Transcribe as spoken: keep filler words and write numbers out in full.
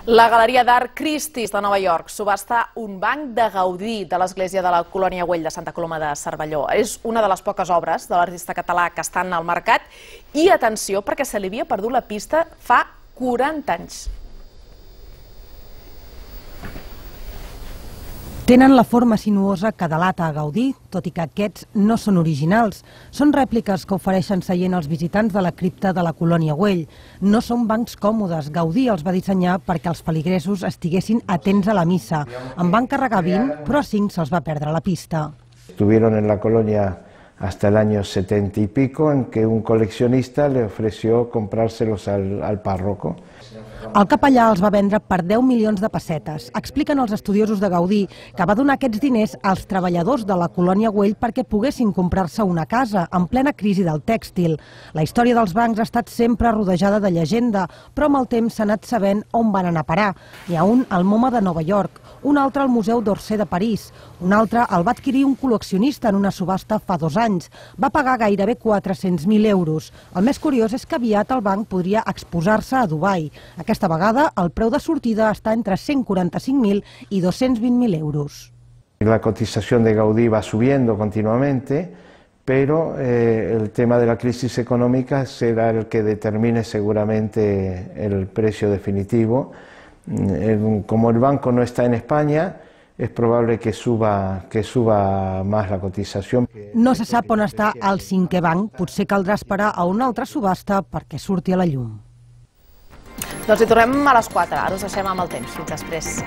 La Galeria d'Art Christie's de Nova York subhasta un banc de Gaudí de l'església de la Colònia Güell de Santa Coloma de Cervelló. És una de les poques obres de l'artista català que estan al mercat i atenció perquè se li havia perdut la pista fa quaranta anys. Tenen la forma sinuosa que delata a Gaudí, tot i que aquests no són originals. Són rèpliques que ofereixen seient als visitants de la cripta de la Colònia Güell. No són bancs còmodes. Gaudí els va dissenyar perquè els feligresos estiguessin atents a la missa. En van carregar vint, però a cinc se'ls va perdre la pista. Estuvieron en la colonia hasta el año setenta y pico, en que un coleccionista le ofreció comprárselos al, al párroco. El capellà els va vendre per deu milions de pessetes. Expliquen els estudiosos de Gaudí que va donar aquests diners als treballadors de la Colònia Güell perquè poguessin comprar-se una casa en plena crisi del tèxtil. La història dels bancs ha estat sempre rodejada de llegenda, però amb el temps s'ha anat sabent on van anar a parar. N'hi ha un al MoMA de Nova York, un altre al Museu d'Orsay de París, un altre el va adquirir un col·leccionista en una subhasta fa dos anys. Va pagar gairebé quatre-cents mil euros. El més curiós és que aviat el banc podria exposar-se a Dubai. Aquesta vegada el preu de sortida està entre cent quaranta-cinc mil y doscientos veinte mil euros. La cotización de Gaudí va subiendo continuamente, pero eh, el tema de la crisis económica será el que determine seguramente el precio definitivo. Como el banco no está en España, és probable que suba, que suba més la cotització. No se sap on està el cinquè banc. Potser caldrà esperar a una altra subhasta perquè surti a la llum. Doncs hi tornem a les quatre. Ara us deixem amb el temps. Fins després.